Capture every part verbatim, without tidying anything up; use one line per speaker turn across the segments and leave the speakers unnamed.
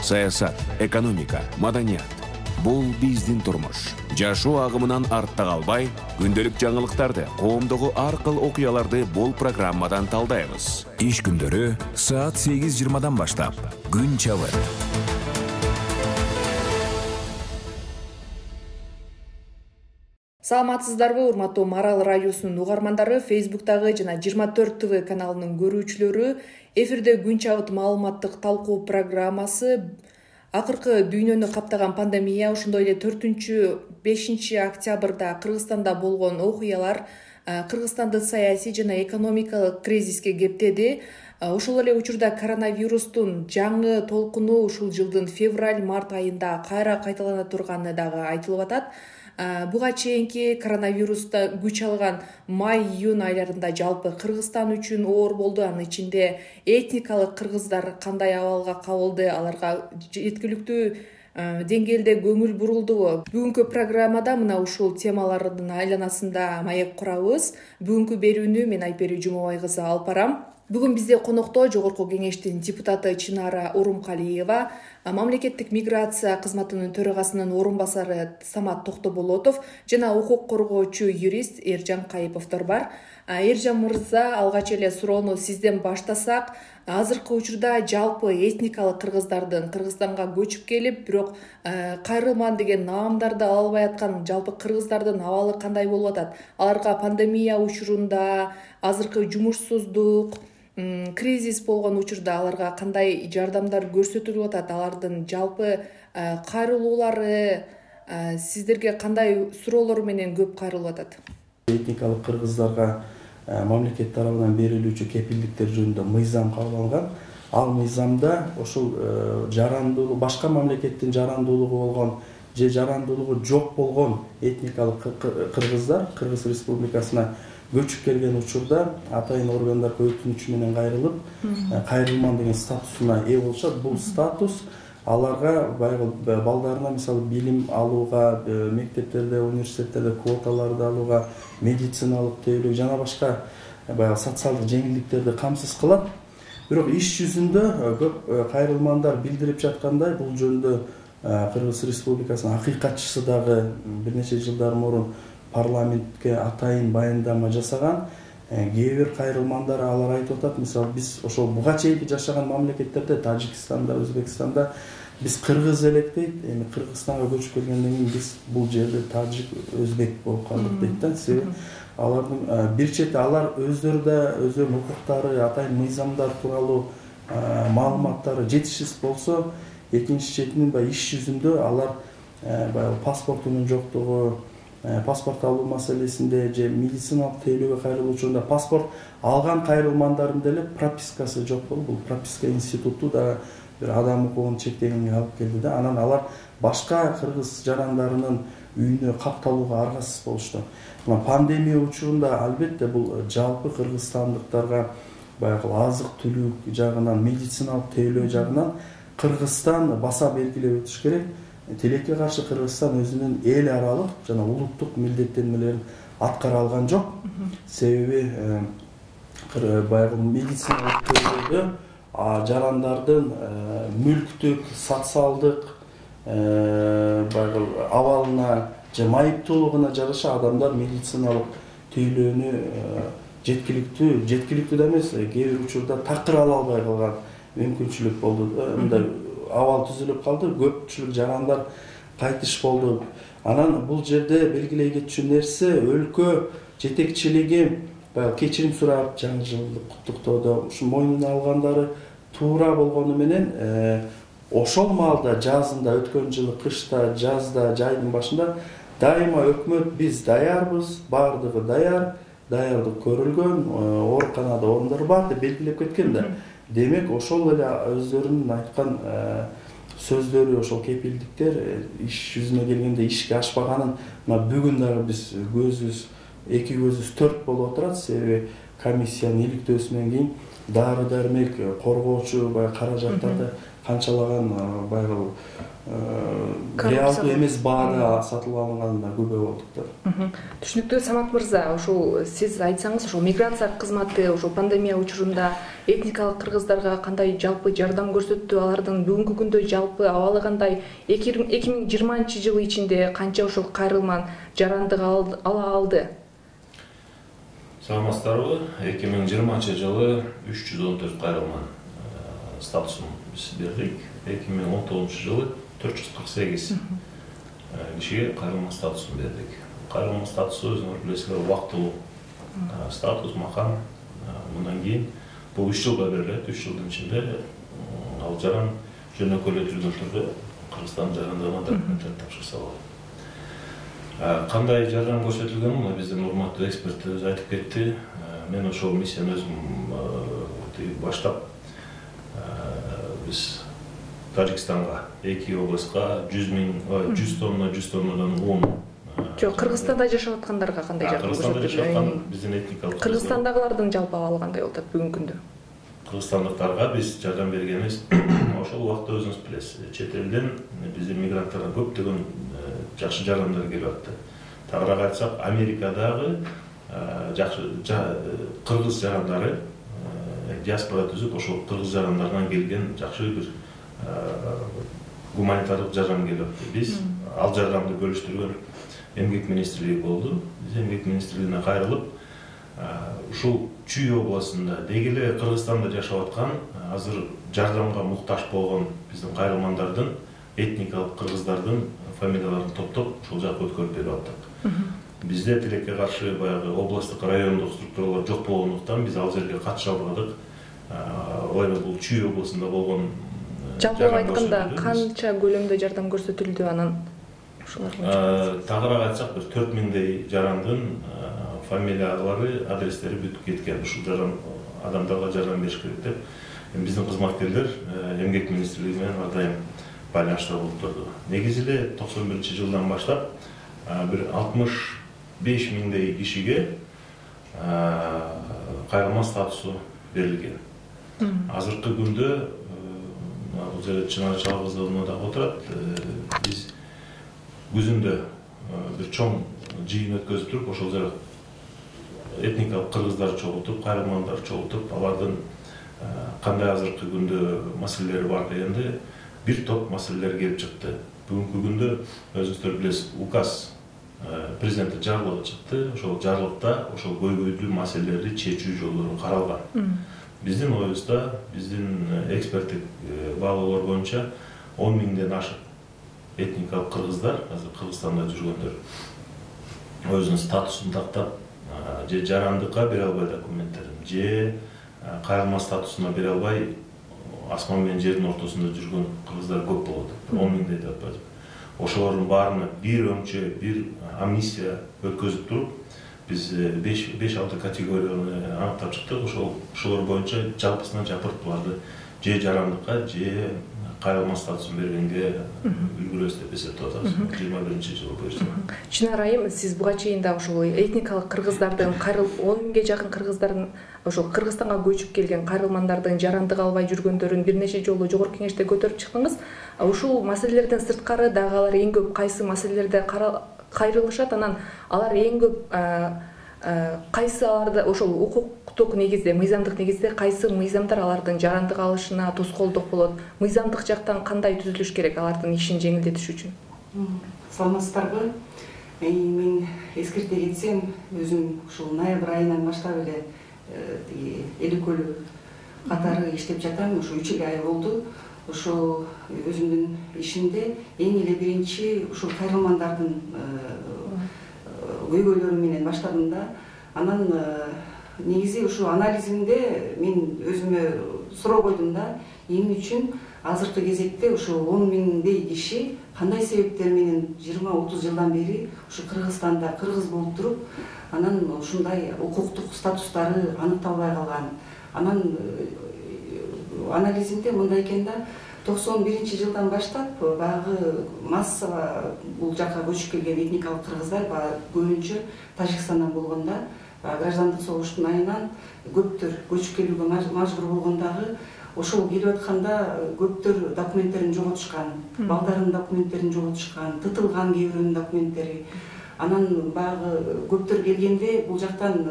Саясат, экономика, маданият. Бул биздин турмуш. Жашоо агымынан артта калбай, күндөлүк жаңылыктарды, коомдогу ар кыл окуяларды бул программадан талдайбыз. Иш күндөрү саат сегиз жыйырмадан баштап. Күн чабыт.
Саламатсыздарбы, урматтуу Марал радиосунун угармандары, Фейсбуктагы жана жыйырма төрт тэ вэ каналынын көрүүчүлөрү, эфирде күн чабыт маалыматтык талкуу программасы. Акыркы дүйнөнү каптаган пандемия, ошондой эле төртүнчү бешинчи октябрда Кыргызстанда болгон окуялар Кыргызстанды саясий жана экономикалык кризиске кептеди. Ошол эле учурда коронавирустун жаңы толкуну ушул жылдын февраль-март айында кайра кайталана турганы дагы айтылып атат. Буга чейинки коронавируста күч алган май-июнь айларында жалпы Кыргызстан үчүн оор болду. Анын ичинде этникалык кыргыздар кандай абалга кабылды, аларга жеткиликтүү деңгээлде көңүл бурулдубу? Бүгүнкү программада мына ушул темалардын айланасында маек курабыз. Бүгүнкү берүүнү мен Айпери Жумабай кызы алып барам. Бүгүн бизде конокто Жогорку кеңештин депутаты Чынара Урумкалиева, мамлекеттик миграция кызматынын төрагасынын орун басары Самат Токтоболотов жана укук коргоочу юрист Эржан Кайыповдор бар. Эржан мырза, алгач эле суроону сизден баштасак, азыркы учурда жалпы этникалык кыргыздардын Кыргызстанга көчүп келип, бирок кайрылман деген наамдарды ала албай аткан жалпы кыргыздардын абалы кандай болуп атат? Аларга пандемия учурунда, азыркы жумушсуздук, кризис болгон учурда аларга кандай жардамдар көрсөтүлүп атат? Алардын жалпы кайрылуулары сиздерге кандай суроолор менен көп кайрылып атат?
Этникалык кыргыздарга мамлекет тарабынан берилүүчү кепилдиктер жөнүндө мыйзам кабыл алынган. Ал мыйзамда ошол жарандуулук, башка мамлекеттин жарандуулугу болгон же жарандуулугу жок болгон этникалык кыргыздар Кыргыз Республикасына көчүп келген учурда атайын органдар өтүнүчү менен кайрылып, кайрылман деген статусуна ээ болушат. Бул статус аларга баягы балдарына мисалы билим алууга, мектептерде, университеттерде квоталарды алууга, медициналык тейлөө жана башка баягы социалдык жеңилдиктерди камсыз кылат. Бирок иш жүзүндө көп кайрылмандар билдирип жаткандай, бул жөнүндө Кыргыз Республикасынын акыйкатчысы дагы бир нече жылдар мурун парламентке атайын баяндама жасаган. Кээ бир кайрылмандар алар айтып атат, мисалы биз ошол буга чейинки жашаган мамлекеттерде, Тажикстанда, Өзбекстанда биз кыргыз элек дейт. Эми Кыргызстанга көчүп келгенден кийин биз бул жерде тажик, өзбек болуп калдык дейт да. Себеби алардын бир чети алар өздөрү да өздөрүнүн укуктары, атайын мыйзамдар тууралуу маалыматтары жетишсиз болсо, экинчи четинин баягы иш жүзүндө алар баягы паспортунун жоктугу, паспорт алуу маселесинде же медициналык тейлөөгө кайрылуу учурунда паспорт алган кайрылмандардын деле пропискасы жок болуп, бул прописка институту да бир адам укугун чектегенге алып келди да. Анан алар башка кыргыз жарандарынын үйүнө капталууга аргасыз болушту. Мына пандемия учурунда албетте бул жалпы кыргызстандыктарга баягы азык-түлүк жагынан, медициналык тейлөө жагынан Кыргызстан баса белгилеп өтүш керек. Тилекке каршы Кыргызстан өзүнүн эл аралык жана улуттук милдеттенмелерин аткара алган жок. Себеби баягы медициналык тейлөөдө жарандардын мүлктүк, социалдык баягы абалына же майыптуулугуна жараша адамдар медициналык тейлөөнү жеткиликтүү, жеткиликтүү да эмес, кээ бир учурда такыр ала албай калган мүмкүнчүлүк болду. Мындай абал түзүлүп калды, көпчүлүк жарандар кайтыш болду. Анан бул жерде белгилей кетчү нерсе, өлкө жетекчилиги баягы кечирим сурап, жаңы жылды куттуктоодо ушу мойнуна алгандары туура болгону менен ошол маалда, жазында, өткөн жылы кышта, жазда, жайдын башында дайыма өкмөт биз даярбыз, баардыгы даяр, даярдык көрүлгөн, ооруканада орундар бар деп белгилеп кеткен да. Демек, ошол эле өздөрүнүн айткан сөздөрү, ошол кепилдиктер иш жүзүнө келгенде ишке ашпаганын мына бүгүн дагы биз көзүбүз, эки көзүбүз төрт болуп отурат. Себеби комиссиянын иликтөөсүнөн кийин дары-дармек, коргоочу баягы каражаттарды канчалаган баягы реалдуу эмес баада сатылып алынганы да күбө болдук да.
Түшүнүктүү. Самат мырза, ошол сиз айтсаңыз, ошол миграция кызматы ошол пандемия учурунда этникалык кыргыздарга кандай жалпы жардам көрсөттү, алардын бүгүнкү күндө жалпы абалы кандай, эки миң жыйырманчы жыл ичинде канча ошол кайрылман жарандык ала алды?
Саламатсыздарбы? эки миң жыйырманчы жылы үч жүз он төрт кайрылман статусун биз бердик. эки миң он тогузунчу жылы төрт жүз кырк сегиз кишиге кайрылман статусун бердик. Кайрылман статусу өзүңөр билесиздер убактылуу статус, макам. Мындан кийин бул үч жылга берилет. үч жылдын ичинде ал жаран жөнөкөй эле түрдө түрдө Кыргызстандын жарандыгына документтер тапшырса болот. Кандай жардам көрсөтүлгөнүн мына биздин урматтуу эксперт өзү айтып кетти. Мен ошол миссияны өзүм баштап биз Тажикстанга эки областка жүз миң жүз тонна жүз тоннадан он.
Жок, Кыргызстанда жашап аткандарга кандай жардам көрсөтүлөт?
Кыргызстанда жашап аткан биздин этникалык
Кыргызстандагылардын жалпы абалы кандай болот бүгүнкү күндө?
Кыргызстандыктарга биз жардам бергенибиз ошол убакта өзүңүз билесиз. Чет элден биздин мигранттарга көптөгөн жакшы жардамдар келип атты. Тагыраак айтсак, Америкадагы жакшы кыргыз жарандары диаспора түзүп, ошол кыргыз жарандарынан келген жакшы бир гуманитардык жардам келип атты. Биз ал жардамды бөлүштүргөн эмгек министрлиги болду. Биз эмгек министрлигине кайрылып, ушул Чүй областында деги эле Кыргызстанда жашап аткан, азыр жардамга муктаж болгон биздин кайрылмандардын, этникалык кыргыздардын фамилияларын топтоп, ушул жакка өткөрүп берип аттык. Бизде тилекке каршы баягы областтык, райондук структуралар жок болгондуктан биз ал жерге катыша албадык. Ой, бул Чүй областында болгон
жалпы айтканда канча көлөмдө жардам көрсөтүлдү анан?
Тагыраак айтсак, бир төрт миңдей жарандын фамилиялары, адрестери бүтүп кеткен. Ушул жаран адамдарга жардам бериш керек деп биздин кызматкерлер эмгек министрлиги менен ар дайым байланышта болуп турду. Негизи эле токсон биринчи жылдан баштап бир алтымыш беш миңдей кишиге кайрылман статусу берилген. Азыркы күндө бул жерде Чынар Чалгызовна да отурат. Биз күзүндө бир чоң жыйын өткөзүп туруп, ошол жерде этникалык кыргыздар чогултуп, кайрылмандар чогултуп, алардын кандай азыркы күндө маселелери бар дегенде бир топ маселелер келип чыкты. Бүгүнкү күндө өзүңүздөр билесиз, указ президенттин жарлыгы чыкты. Ошол жарлыкта ошол көйгөйлүү маселелерди чечүү жолдору каралган. Биздин оюбузда, биздин эксперттик баалоолор боюнча он миңден ашык этникалык кыргыздар, азыр Кыргызстанда жүргөндөр, өзүнүн статусун тактап, же жарандыкка бере албай документтерин, же кайрылма статусуна бере албай асман менен жердин ортосунда жүргөн кыргыздар көп болот. он миңдей деп атпайбы. Ошолордун баарына бир өңчө, бир амнистия өткөзүп туруп, биз беш алты категорияны аныктап чыктык. Ошол ошолор боюнча жалпысынан жапырып буларды же жарандыкка, же кайрылма статусун бергенге үлгүрөбүз деп эсептеп атабыз. жыйырма биринчи жылы буюрса.
Чынар айым, сиз буга чейин да ошол этникалык кыргыздардын кайрылып он миңге жакын кыргыздардын ошол Кыргызстанга көчүп келген кайрылмандардын жарандык албай жүргөндөрүн бир нече жолу жогорку кеңеште көтөрүп чыктыңыз. Ушул маселелерден сырткары дагы алар эң көп кайсы маселелерде кайрылышат, анан алар эң көп кайсы аларды ошол укуктук негизде, мыйзамдык негизде кайсы мыйзамдар алардын жарандык алышына тоскоолдук болот? Мыйзамдык жактан кандай түзүлүш керек алардын ишин жеңилдетиш үчүн?
Саламатсыздарбы? Мен эскерте кетсем, өзүм ушул ноябрь айынан баштап эле Эликөлү катары иштеп жатам. Ушу үч ай болду. Ошо өзүмдүн ишимде эң эле биринчи ушул кайрылмандардын көйгөйлөрү менен баштадым да. Анан негизи ушул анализимде мен өзүмө суроо койдум да, эмне үчүн азыркы кезекте ушул он миңдей киши кандай себептер менен жыйырма отуз жылдан бери ушу Кыргызстанда кыргыз болуп туруп, анан ушундай укуктук статустары аныкталбай калган. Анан анализимде мындай экен да, токсон биринчи жылдан баштап баягы массово бул жака көчүп келген этникалык кыргыздар баягы көбүнчө Тажикстандан болгон да, граждандык согуштун айынан көптөр көчүп келүүгө мажбур болгондагы ошол келип атканда көптөр документтерин жоготушкан, балдарынын документтерин жоготушкан, тытылган кээ бирөөнүн документтери. Анан баягы көптөр келгенде бул жактан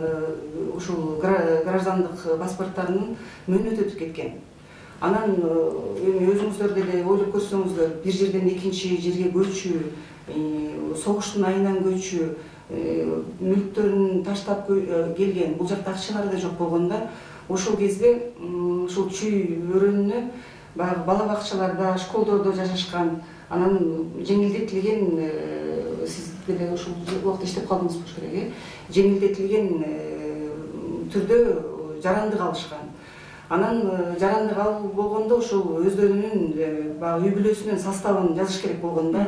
ушул граждандык паспорттарынын мөөнөтү өтүп кеткен. Анан эми өзүңүздөр деле ойлоп көрсөңүздөр, бир жерден экинчи жерге көчүү, согуштун айынан көчүү, мүлктөрүн таштап келген, бул жакта акчалары да жок болгондо, ошол кезде ушул чүй өрөөнүнө баягы бала бакчаларда, школдордо жашашкан, анан жеңилдетилген, сиз деле ушул убакта иштеп калдыңыз болуш керек, э, жеңилдетилген түрдө жарандык алышкан. Анан жарандык алуу болгондо ошол өздөрүнүн баягы үй бүлөсүнүн составын жазыш керек болгондо,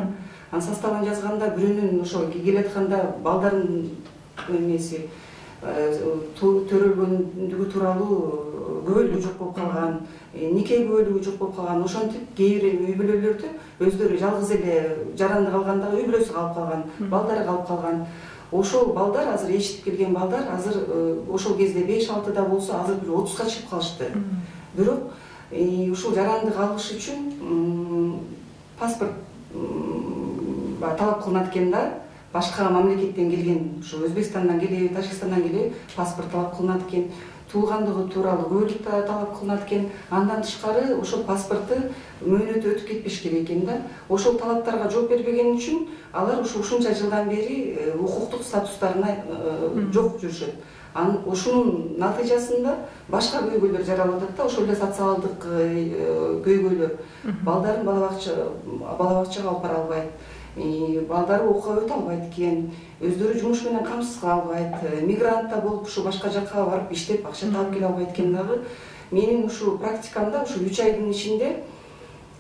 анын составын жазганда бирөөнүн ошо келип атканда балдардын эмеси төрөлгөндүгү тууралуу күбөлүгү жок болуп калган, нике күбөлүгү жок болуп калган. Ошентип кээ бир үй бүлөлөрдө өздөрү жалгыз эле жарандык алганда үй бүлөсү калып калган, балдары калып калган. Ошол балдар азыр эчитип келген балдар азыр ошол кезде беш алтыда болсо азыр бир отузга чыгып калышты. Бирок ушул жарандык алыш үчүн паспорт талап кылынат экен да. Башка мамлекеттен келген, ушу Өзбекстандан келип, Тажикстандан келип паспорт талап кылынат экен, туулгандыгы тууралуу күбөлүк талап кылынат экен. Андан тышкары ошол паспорту мөөнөтү өтүп кетпеш керек экен да. Ошол талаптарга жооп бербеген үчүн алар ушу ушунча жылдан бери укуктук статустарына жок жүрүшөт. Анан ушунун натыйжасында башка көйгөйлөр жаралып атат да, ошол эле социалдык көйгөйлөр. Балдарын бала бакчага алып бара албайт, балдары окууга өтө албайт экен, өздөрү жумуш менен камсыз кала албайт, мигрантта болуп ушу башка жакка барып иштеп акча таап келе албайт экен дагы. Менин ушу практикамда ушу үч айдын ичинде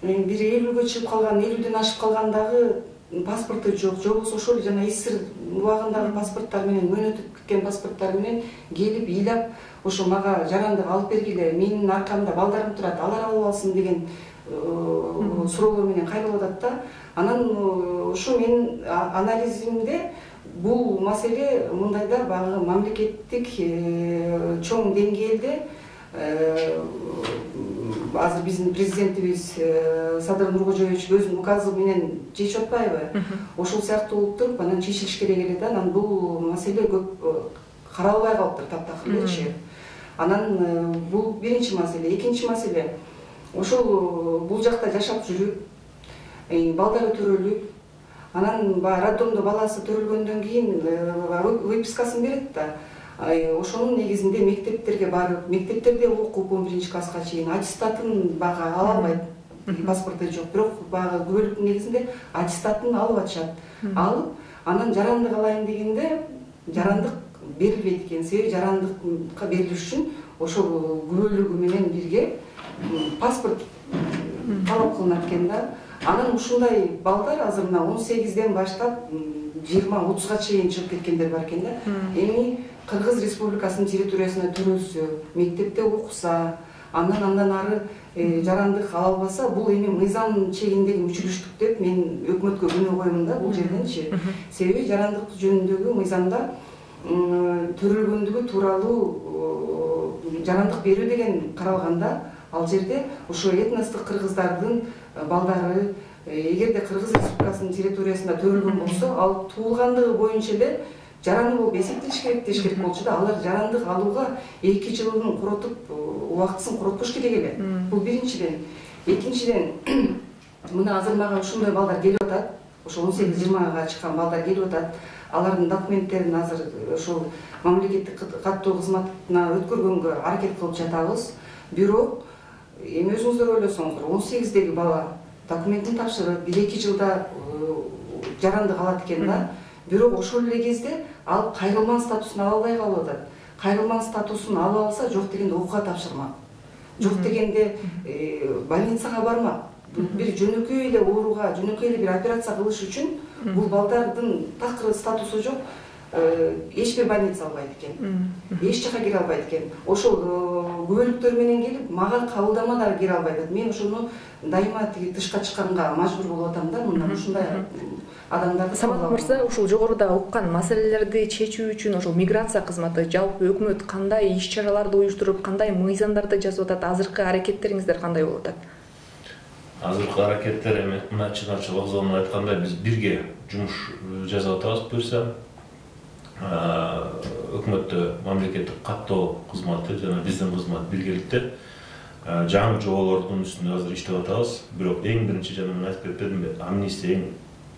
бир элүүгө чыгып калган, элүүдөн ашып калгандагы паспорту жок, же болбосо ошол жана эсир убагындагы паспорттар менен, мөөнөтүп кеткен паспорттар менен келип ыйлап, ошо мага жарандык алып бергиле, менин аркамда балдарым турат, алар алып алсын деген суроолор менен кайрылып атат да. Анан ошо менин анализимде бул маселе мындайда баягы мамлекеттик чоң деңгээлде азыр биздин президентибиз Садыр Нуркожоевич өзүнүн указы менен чечип атпайбы? Ошол сыяктуу болуп туруп анан чечилиш керек эле да. Анан бул маселе көп каралбай калыптыр таптакыр элечи. Анан бул биринчи маселе. Экинчи маселе, ошол бул жакта жашап жүрүп, балдары төрөлүп, анан баягы роддомдо баласы төрөлгөндөн кийин выпискасын берет да. Ошонун негизинде мектептерге барып, мектептерде окуп он биринчи класска чейин аттестатын бага ала албайт, паспорту жок, бирок баягы күбөлүктүн негизинде аттестатын алып атышат. Алып, анан жарандык алайын дегенде жарандык берилбейт экен. Себеби жарандыкка берилиш үчүн ошол күбөлүгү менен бирге паспорт талап кылынат экен да. Анан ушундай балдар азыр мына он сегизден баштап жыйырма отузга чейин чыгып кеткендер бар экен да. Эми Кыргыз Республикасынын территориясына төрөлсө, мектепте окуса, андан андан ары жарандык ала албаса, бул эми мыйзам чегиндеги мүчүлүштүк деп мен өкмөткө күнөө коемун да бул жерденчи. Себеби жарандык жөнүндөгү мыйзамда төрөлгөндүгү тууралуу жарандык берүү деген каралганда, ал жерде ошо этностук кыргыздардын балдары эгерде Кыргыз Республикасынын территориясында төрөлгөн болсо, ал туулгандыгы боюнча эле жараны болуп эсептелиш керек деш керек болчу да. Алар жарандык алууга эки жылын коротуп, убактысын коротпош керек эле. Бул биринчиден. Экинчиден, мына азыр мага ушундай балдар келип атат. Ошо он сегиз жыйырмага чыккан балдар келип атат. Алардын документтерин азыр ошол мамлекеттик каттоо кызматына өткөргөнгө аракет кылып жатабыз. Бирок эми өзүңүздөр ойлосоңуздар, он сегиздеги бала документин тапшырып, бир эки жылда жарандык алат экен да. Бирок ошол эле кезде ал кайрылман статусун ала албай калып атат. Кайрылман статусун алып алса, жок дегенде окууга тапшырмак. Жок дегенде больницага бармак. Бир жөнөкөй эле ооруга, жөнөкөй эле бир операция кылыш үчүн бул балдардын такыр статусу жок. эч бир больница албайт экен, эч жака кире албайт экен. Ошол күбөлүктөр менен келип мага кабылдама дагы кире албайт. Мен ошону дайыма тиги тышка чыкканга мажбур болуп атам да, мындан ушундай адамдарды.
Самат мырза, ушул жогоруда уккан маселелерди чечүү үчүн ошол миграция кызматы, жалпы өкмөт кандай иш чараларды уюштуруп, кандай мыйзамдарды жазып атат? Азыркы аракеттериңиздер кандай болуп атат?
Азыркы аракеттер эми мына чыгарчы вокзалын айткандай биз бирге жумуш жасап атабыз. Буюрса өкмөттө мамлекеттик каттоо кызматы жана биздин кызмат биргеликте жаңы жоболордун үстүндө азыр иштеп атабыз. Бирок эң биринчи жана мен айтып кетпедимби, амнистия эң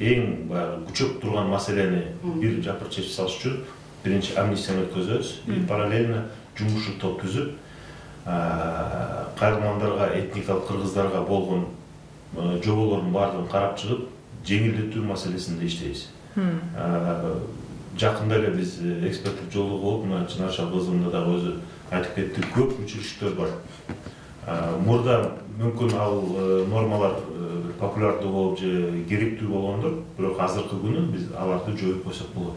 эң баягы күчөп турган маселени бир жапыр чечип салыш үчүн биринчи амнистияны өткөзөбүз. Параллельно жумушчу топ түзүп, кайрылмандарга, этникалык кыргыздарга болгон жоболордун баардыгын карап чыгып, жеңилдетүү маселесинде иштейбиз. Жакында эле биз эксперттик жолдо болуп, мына Чынар Шалкызовна дагы өзү айтып кетти, көп училищелер бар. Мурда мүмкүн ал нормалар популярдуу болуп же керектүү болгондур, бирок азыркы күнү биз аларды жоюп койсок болот.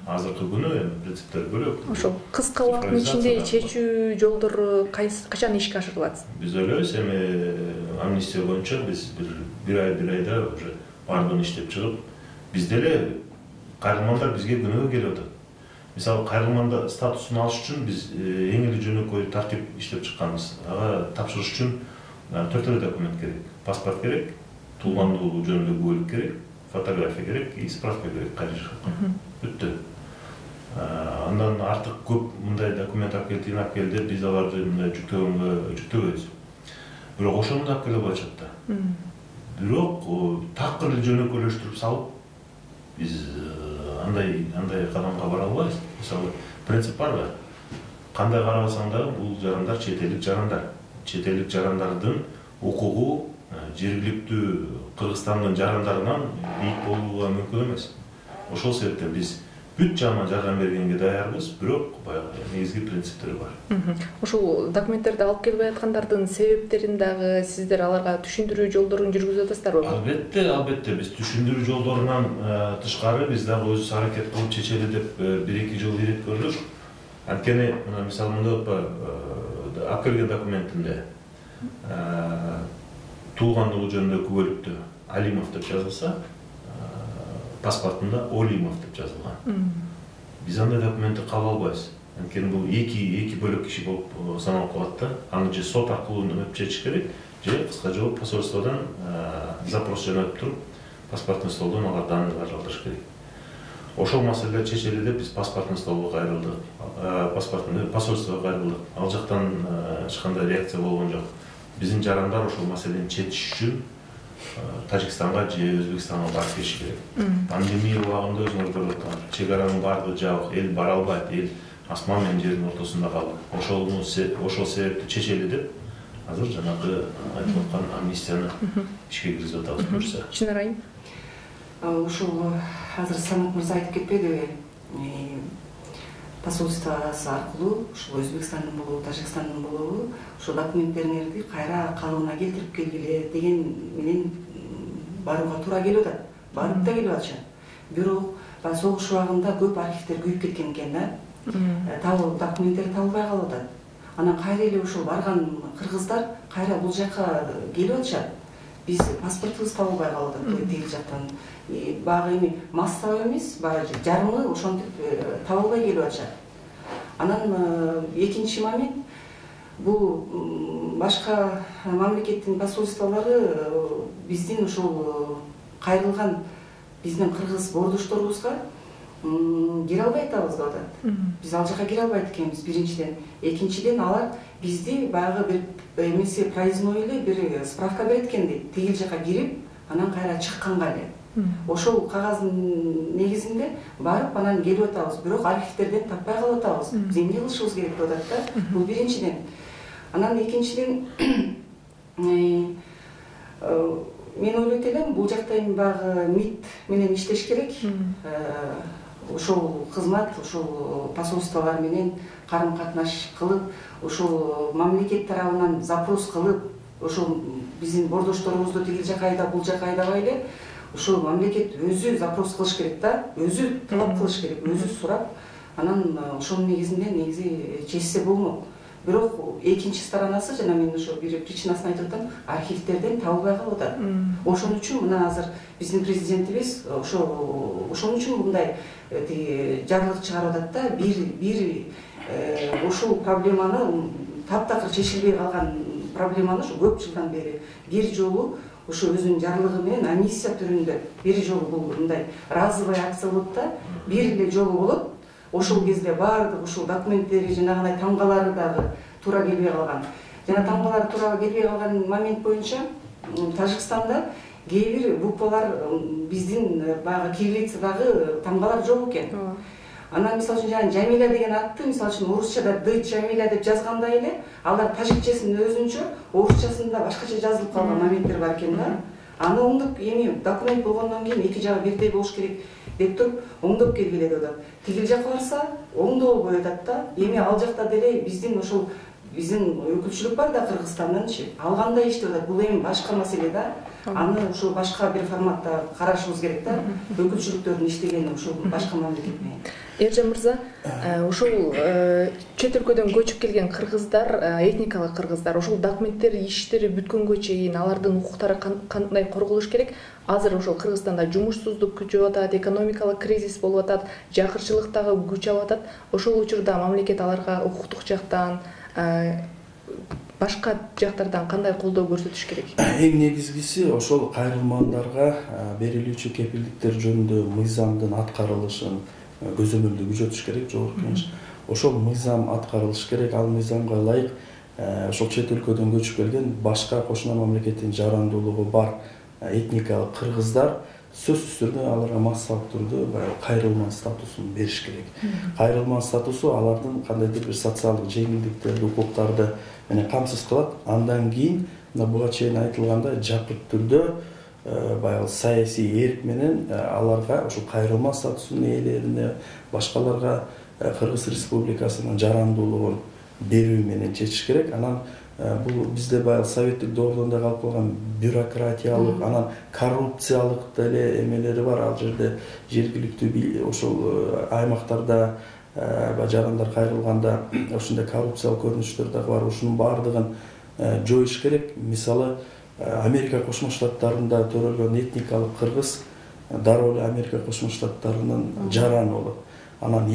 Азыркы күнү эми принциптер бөлөк.
Ошол кыска убакыттын ичинде чечүү жолдору качан ишке ашырылат?
Биз ойлойбуз, эми амнистия боюнча биз бир ай бир айда уже баардыгын иштеп чыгып, бизде эле кайрылмандар бизге күнөөгө келип атат. Мисалы, кайрылманда статусун алыш үчүн биз эң эле жөнөкөй тартип иштеп чыкканбыз. Ага тапшырыш үчүн төрт эле документ керек. Паспорт керек, туулгандуулугу жөнүндө күбөлүк керек, фотография керек и справка керек кайрылышка. Бүттү. Андан артык көп мындай документ алып келди, алып келди, биз аларды мындай жүктөгөнгө жүктөбөйбүз. Бирок ошону да алып келе албайт да. Бирок такыр эле жөнөкөйлөштүрүп салып, биз андай андай кадамга бара албайбыз. Мисалы, принцип барбы? Кандай карабасаң да бул жарандар чет элдик жарандар. Чет элдик жарандардын укугу жергиликтүү Кыргызстандын жарандарынан бийик болууга мүмкүн эмес. Ошол себептен биз бүт жаман жардам бергенге даярбыз, бирок баягы негизги принциптери бар.
Ошол документтерди алып келбей аткандардын себептерин дагы сиздер аларга түшүндүрүү жолдорун жүргүзүп атасыздарбы?
Албетте, албетте биз түшүндүрүү жолдорунан тышкары биз дагы өзүбүз аракет кылып чечели деп бир-эки жол ирет көрдүк. Анткени мына мисалы мында алып келген документинде туулгандуулугу жөнүндө күбөлүктө Алимов деп жазылса, паспортунда Олимов деп жазылган. Биз андай документти кабыл албайбыз. Анткени бул эки эки бөлөк киши болуп саналып калат да. Аны же сот аркылуу өтүп чечиш керек, же кыска жол посольстводон запрос жөнөтүп туруп, паспортный столдон алар данныйларды алдырыш керек. Ошол маселелер чечели деп биз паспортный столго кайрылдык, паспортный посольствого кайрылдык. Ал жактан эч кандай реакция болгон жок. Биздин жарандар ошол маселени чечиш үчүн Тажикстанга же Өзбекстанга барып келиш керек. Пандемия убагында өзүңөр көрүп атасыздар. Чек аранын баардыгы жабык, эл бара албайт, эл асман менен жердин ортосунда калды. Ошол ошол себепти чечели деп азыр жанагы айтып аткан амнистияны ишке киргизип атабыз буюрса.
Чынар айым.
Ушул азыр Самат мырза айтып кетпедиби? Посольствосы аркылуу, ушул Өзбекстандын болобу, Тажикстандын болобу, ошол документтериңерди кайра калыбына келтирип келгиле деген менен барууга туура келип атат. Барып да келип атышат. Бирок баягы согуш убагында көп архивдер күйүп кеткен экен да. Табыл документтер табылбай калып атат. Анан кайра эле ошол барган кыргыздар кайра бул жакка келип атышат. Биз паспортубуз табылбай калып атат тиги жактан. Баягы эми массовый эмес, баягы жарымы ошентип табылбай келип атышат. Анан экинчи момент, бул башка мамлекеттин посольстволору биздин ошол кайрылган биздин кыргыз бордошторубузга кире албай атабыз деп атат. Биз ал жака кире албайт экенбиз биринчиден. Экинчиден алар бизди баягы бир эмесе проездной эле бир справка берет экен дейт. Тигил жака кирип, анан кайра чыкканга эле. Ошол кагаздын негизинде барып анан келип атабыз, бирок архивтерден таппай калып атабыз. Биз эмне кылышыбыз керек деп атат да. Бул биринчиден. Анан экинчиден мен ойлойт элем, бул жакта эми баягы МИД менен иштеш керек. Ошол кызмат, ошол посольстволор менен карым-катнаш кылып, ошол мамлекет тарабынан запрос кылып, ошол биздин бордошторубузду тигил жака айдап, бул жака айдабай эле, ошол мамлекет өзү запрос кылыш керек да, өзү талап кылыш керек, өзү сурап, анан ошонун негизинде негизи чечсе болмок. Бирок экинчи сторонасы, жана мен ошо бир причинасын айтып атам, архивтерден табылбай калып атат. Ошон үчүн мына азыр биздин президентибиз ошо ошон үчүн мындай тиги жарлык чыгарып атат да, бир бир ушул проблеманы таптакыр чечилбей калган проблеманы ушу көп жылдан бери бир жолу ошо өзүнүн жарлыгы менен амиссия түрүндө бир жолу бул мындай разовый акция болот да, бир эле жолу болот. Ошол кезде баардык ушул документтери, жанагындай тамгалары дагы туура келбей калган. Жана тамгалары туура келбей калган момент боюнча Тажикстанда кээ бир буквалар биздин баягы кириллицадагы тамгалар жок экен. Анан мисалы үчүн жана Жамиля деген атты мисалы үчүн орусчада Д Жамиля деп жазгандай эле, алар тажикчесин өзүнчө, орусчасында башкача жазылып калган моменттер бар экен да. Аны оңдоп, эми документ болгондон кийин эки жагы бирдей болуш керек деп туруп оңдоп келгиле деп атат. Тигил жакка барса оңдолбой атат да. Эми ал жакта деле биздин ошол биздин өкүлчүлүк бар да Кыргызстанданчы. Ал кандай иштеп атат? Бул эми башка маселе да. Аны ушул башка бир форматта карашыбыз керек да. Өкүлчүлүктөрдүн иштегени ушул башка мамлекет менен.
Эржан мырза, ушул чет өлкөдөн көчүп келген кыргыздар, этникалык кыргыздар, ошол документтер иштери бүткөнгө чейин алардын укуктары кандай корголуш керек? Азыр ошол Кыргызстанда жумушсуздук күчөп атат, экономикалык кризис болуп атат, жакырчылык дагы күч алып атат. Ошол учурда мамлекет аларга укуктук жактан, башка жактардан кандай колдоо көрсөтүш керек?
Эң негизгиси ошол кайрылмаандарга берилүүчү кепилдиктер жөнүндө мыйзамдын аткарылышын көзөмөлдөө күчөтүш керек, жогорку кеңеш. Ошол мыйзам аткарылыш керек, ал мыйзамга ылайык ошол чет өлкөдөн көчүп келген башка кошуна мамлекеттин жарандуулугу бар этникалык кыргыздар сөзсүз түрдө аларга массалык түрдө баягы кайрылман статусун бериш керек. Кайрылман статусу алардын кандайдыр бир социалдык жеңилдиктерди, укуктарды менен камсыз кылат. Андан кийин мына буга чейин айтылгандай жапырт түрдө баягы саясий эрк менен аларга ошол кайрылман статусунун ээлерине, башкаларга Кыргыз Республикасынын жарандуулугун берүү менен чечиш керек. Анан бул бизде баягы советтик доордон да калып калган бюрократиялык, анан коррупциялык деле эмелери бар. Ал жерде жергиликтүү ошол аймактарда жарандар кайрылганда ошондой коррупциялык көрүнүштөр дагы бар. Ушунун баардыгын жоюш керек. Мисалы Америка Кошмо Штаттарында төрөлгөн этникалык кыргыз дароо эле Америка Кошмо Штаттарынын жараны болот. Анан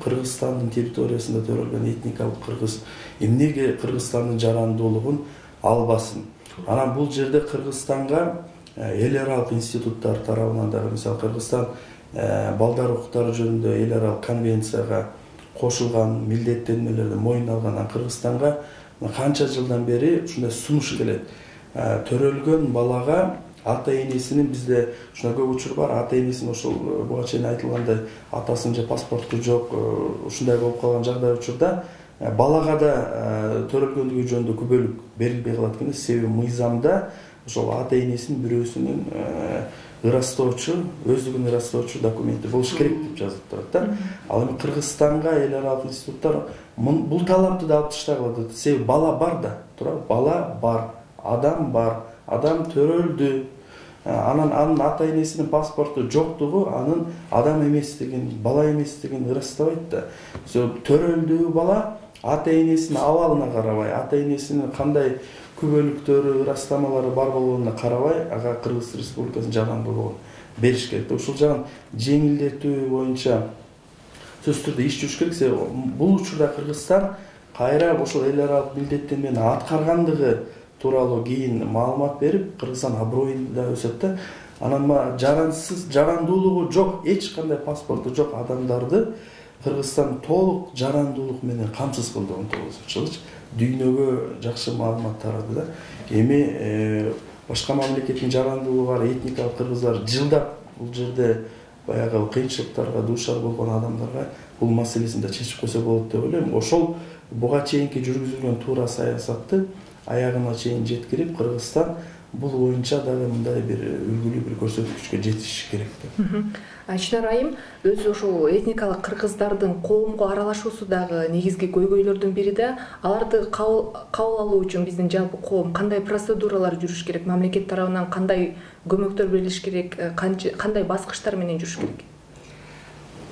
Кыргызстандын территориясында төрөлгөн этникалык кыргыз эмнеге Кыргызстандын жарандуулугун албасын? Анан бул жерде Кыргызстанга эл аралык институттар тарабынан дагы, мисалы Кыргызстан балдар укуктары жөнүндө эл аралык конвенцияга кошулган милдеттенмелерди мойнуна алган. Кыргызстанга канча жылдан бери ушундай сунуш келет. Төрөлгөн балага ата энесинин, бизде ушундай көп учур бар, ата энесин ошол буга чейин айтылгандай атасынын же паспорту жок, ушундай болуп калган жагдай учурда балага да төрөлгөндүгү жөнүндө күбөлүк берилбей калат экен. Себеби мыйзамда ошол ата энесинин бирөөсүнүн ырастоочу, өздүгүн ырастоочу документи болуш керек деп жазылып турат да. Ал эми Кыргызстанга эл аралык институттар бул талапты да алып таштагыла. Себеби бала бар да, туурабы? Бала бар, адам бар, адам төрөлдү. Анан анын ата энесинин паспорту жоктугу анын адам эместигин, бала эместигин ырастабайт да. Төрөлдү бала ата энесинин абалына карабай, ата энесинин кандай күбөлүктөрү, ырастамалары бар болгонуна карабай, ага Кыргыз Республикасынын жарандуулугун бериш керек. Ушул жагын жеңилдетүү боюнча сөзсүз түрдө иш жүрүш керек. Себеби бул учурда Кыргызстан кайра ошол эл аралык милдеттенмени аткаргандыгы тууралуу кийин маалымат берип, Кыргызстан аброюн да өсөт да. Анан жарансыз, жарандуулугу жок, эч кандай паспорту жок адамдарды Кыргызстан толук жарандуулук менен камсыз кылды он тогузунчу жылы. Дүйнөгө жакшы маалымат тарады да. Эми башка мамлекеттин жарандуулугу бар этникалык кыргыздар жылдап бул жерде баягы кыйынчылыктарга дуушар болгон адамдарга бул маселесин да чечип койсо болот деп ойлойм. Ошол буга чейинки жүргүзүлгөн туура саясатты аягына чейин жеткирип, Кыргызстан бул боюнча дагы мындай бир үлгүлүү бир көрсөткүчкө жетиш керек деп.
Чынар айым, өзү ошол этникалык кыргыздардын коомго аралашуусу дагы негизги көйгөйлөрдүн бири да. Аларды кабыл алуу үчүн биздин жалпы коом кандай процедуралар жүрүш керек, мамлекет тарабынан кандай көмөктөр берилиш керек, кандай баскычтар менен жүрүш керек?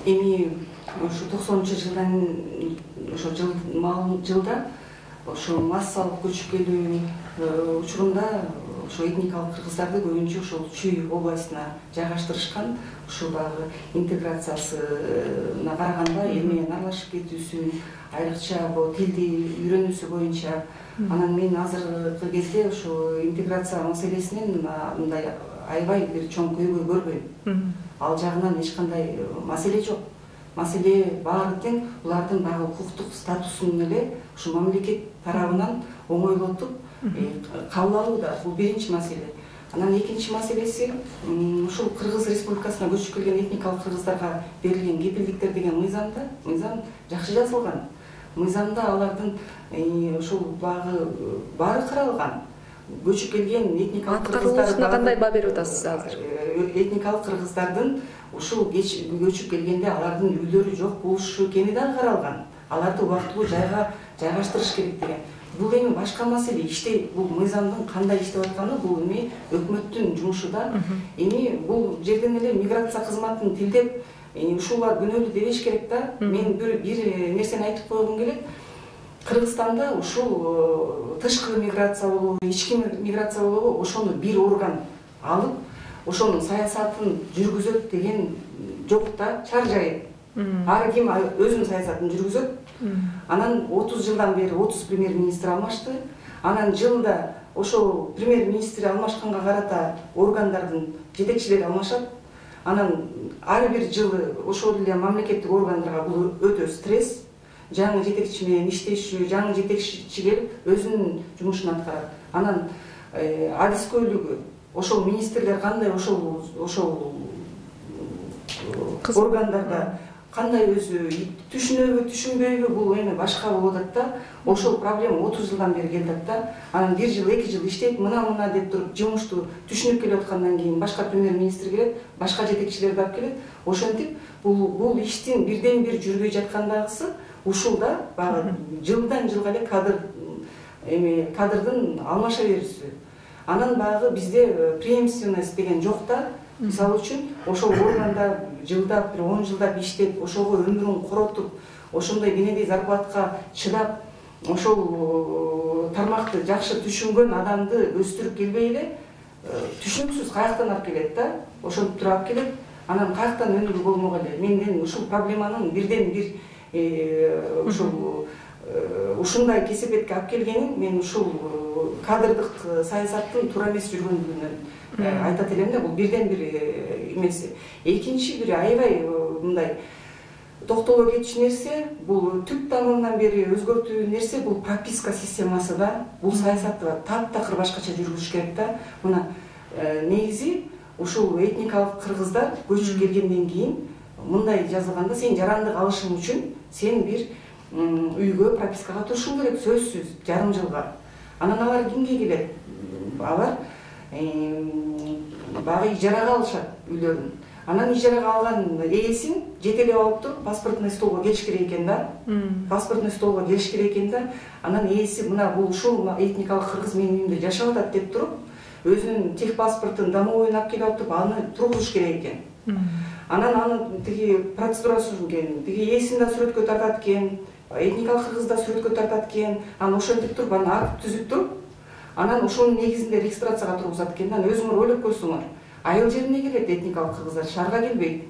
Эми ошо токсонунчу жылдан ошо жыл жылда ошо массалык көчүп келүү учурунда ошо этникалык кыргыздарды көбүнчө ошол Чүй областына жайгаштырышкан. Ушул багы интеграциясына караганда эл менен аралашып кетүүсүн, айрыкча бул тилди үйрөнүүсү боюнча. Анан мен азыркы кезде ошо интеграция маселесинен мындай аябай бир чоң көйгөй көрбөйм. Ал жагынан эч кандай маселе жок. Маселе баары тең булардын дагы укуктук статусун эле ушу мамлекет тарабынан оңойлотуп кабыл алууда. Бул биринчи маселе. Анан экинчи маселеси ушул Кыргыз Республикасына көчүп келген этникалык кыргыздарга берилген кепилдиктер деген мыйзамда, мыйзам жакшы жазылган. Мыйзамда алардын ушул багы баары каралган. Көчүп келген этникалык кыргыздар
кандай баа берип атасыз азыр?
Этникалык кыргыздардын ушул көчүп келгенде алардын үйлөрү жок болушу экени да каралган. Аларды убактылуу жайга жайгаштырыш керек деген. Бул эми башка маселе. Иштей бул мыйзамдын кандай иштеп атканы бул эми өкмөттүн жумушу да. Эми бул жерден эле миграция кызматын тилдеп ушулар күнөөлүү дебеш керек да. Мен бир бир нерсени айтып койгум келет. Кыргызстанда ушул тышкы миграция болобу, ички миграция болобу, ошону бир орган алып, ошонун саясатын жүргүзөт деген жок да, чар жайы. Ар ким өзүнүн саясатын жүргүзөт. Анан отуз жылдан бери отуз премьер-министр алмашты. Анан жылда ошол премьер-министр алмашканга карата органдардын жетекчилери алмашат. Анан ар бир жылы ошол эле мамлекеттик органдарга бул өтө стресс. Жаңы жетекчи менен иштешүү, жаңы жетекчи келип өзүнүн жумушун аткарат. Анан адискөйлүгү ошол министрлер кандай ошол ошол органдарда кандай өзү түшүнөбү, түшүнбөйбү, бул эми башка болуп атат да. Ошол проблема отуз жылдан бери келет да. Анан бир жыл, эки жыл иштейт, мына-мына деп туруп жумушту түшүнүп келип аткандан кийин башка премьер-министр келет, башка жетекчилерди алып келет. Ошентип бул бул иштин бирден бир жүрбөй жаткандагысы ушул да багы жылдан жылга эле кадр эми кадрдын алмаша берүүсү. Анан багы бизде преемственность деген жок да. Мисалы үчүн ошол органда жылдап, бир он жылдап иштеп, ошого өмүрүн коротуп, ошондой кенедей зарплатка чыдап, ошол тармакты жакшы түшүнгөн адамды өстүрүп келбей эле түшүнүксүз каяктан алып келет да. Ошентип туруп алып келет. Анан каяктан өнүгүү болмок эле. Мен ушул проблеманын бирден бир ушул ушундай кесепетке алып келгенин мен ушул кадрдык саясаттын туура эмес жүргөндүгүнөн айтат элем да. Бул бирден бир эмеси. Экинчи бир аябай мындай токтоло кетчү нерсе, бул түп тамырынан бери өзгөртүү нерсе бул прописка системасы да. Бул саясатты таптакыр башкача жүргүзүш керек да. Мына негизи ушул этникалык кыргыздар көчүп келгенден кийин мындай жазылганда сен жарандык алышың үчүн сен бир үйгө пропискага турушуң керек, сөзсүз жарым жылга. Анан алар кимге келет? Алар багы ижарага алышат үйлөрүн. Анан ижарага алган ээсин жетелеп алып туруп паспортный столго келиш керек экен да. Паспортный столго келиш керек экен да. Анан ээси мына бул ушул этникалык кыргыз менин үйүмдө жашап атат деп туруп, өзүнүн техпаспортун домовойун алып келип туруп аны тургузуш керек экен. Анан аны тиги процедурасы экен, тиги ээсин да сүрөткө тартат экен, этникалык кыргыз да сүрөткө тартат экен. Анан ошентип туруп аны акт түзүп туруп, анан ошонун негизинде регистрацияга тургузат экен. Анан өзүңөр ойлоп көрсөңөр, айыл жерине келет этникалык кыргыздар, шаарга келбейт.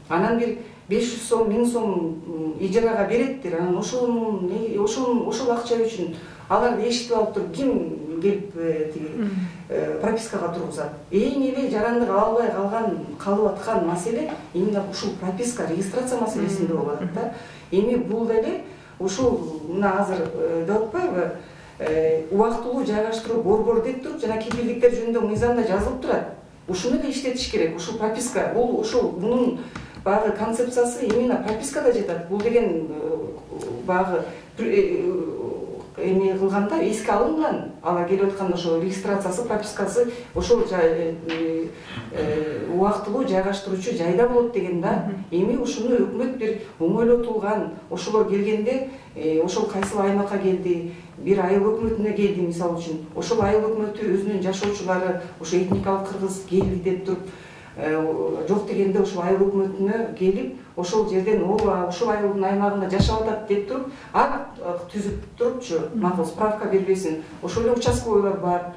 Анан бир беш жүз сом, миң сом ижарага береттир. Анан ошол ошол ошол акча үчүн аларды эшитип алып туруп ким келип тиги пропискага тургузат. Эң эле жарандык албай калган калып аткан маселе именно ушул прописка, регистрация маселесинде болуп атат да. Эми бул деле ушул мына азыр деп атпайбы, убактылуу жайгаштыруу борбору деп туруп жана кепилдиктер жөнүндө мыйзамда жазылып турат. Ушуну эле иштетиш керек. Ушул прописка, бул ушул мунун багы концепциясы именно пропискада жатат. Бул деген багы эме кылганда эске алынган, ала келип аткан ошо регистрациясы, пропискасы ошол убактылуу жайгаштыруучу жайда болот деген да. Эми ушуну өкмөт бир оңойлотулган, ошолор келгенде ошол кайсыл аймакка келди, бир айыл өкмөтүнө келди мисалы үчүн. Ошол айыл өкмөтү өзүнүн жашоочулары ошо этникалык кыргыз келди деп туруп, жок дегенде ошол айыл өкмөтүнө келип, ошол жерден ооба ошол айылдын аймагында жашап атат деп туруп, акт түзүп турупчу, макул справка бербесин. Ошол эле участковойлор бар,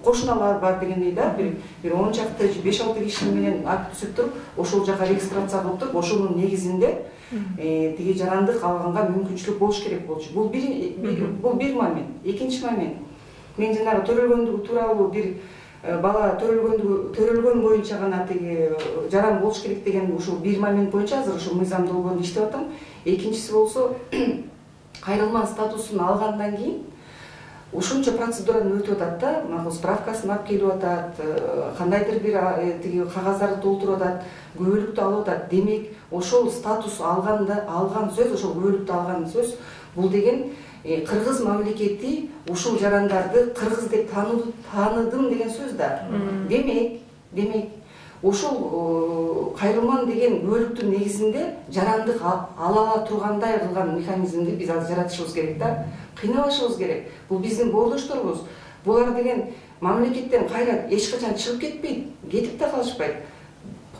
кошуналар бар дегендей да, бир бир он чакты, беш алты киши менен акт түзүп туруп, ошол жака регистрация кылып туруп, ошонун негизинде тиги жарандык алганга мүмкүнчүлүк болуш керек болчу. Бул бир бул бир момент. Экинчи момент. Мен жанагы төрөлгөндүгү тууралуу бир бала төрөлгөндүгү төрөлгөн боюнча гана тиги жаран болуш керек деген ушул бир момент боюнча азыр ушул мыйзам долбоорунда иштеп атам. Экинчиси болсо кайрылман статусун алгандан кийин ушунча процедураны өтүп атат да, макул справкасын алып келип атат, кандайдыр бир тиги кагаздарды толтуруп атат, күбөлүктү алып атат. Демек, ошол статус алганда алган сөз, ошол күбөлүктү алган сөз, бул деген кыргыз мамлекети ушул жарандарды кыргыз деп тааныдым деген сөз да. Демек, демек ошол кайрылман деген күбөлүктүн негизинде жарандык ала тургандай кылган механизмди биз азыр жаратышыбыз керек да. Кыйнабашыбыз керек. Бул биздин боордошторубуз. Булар деген мамлекеттен кайра эч качан чыгып кетпейт, кетип да калышпайт.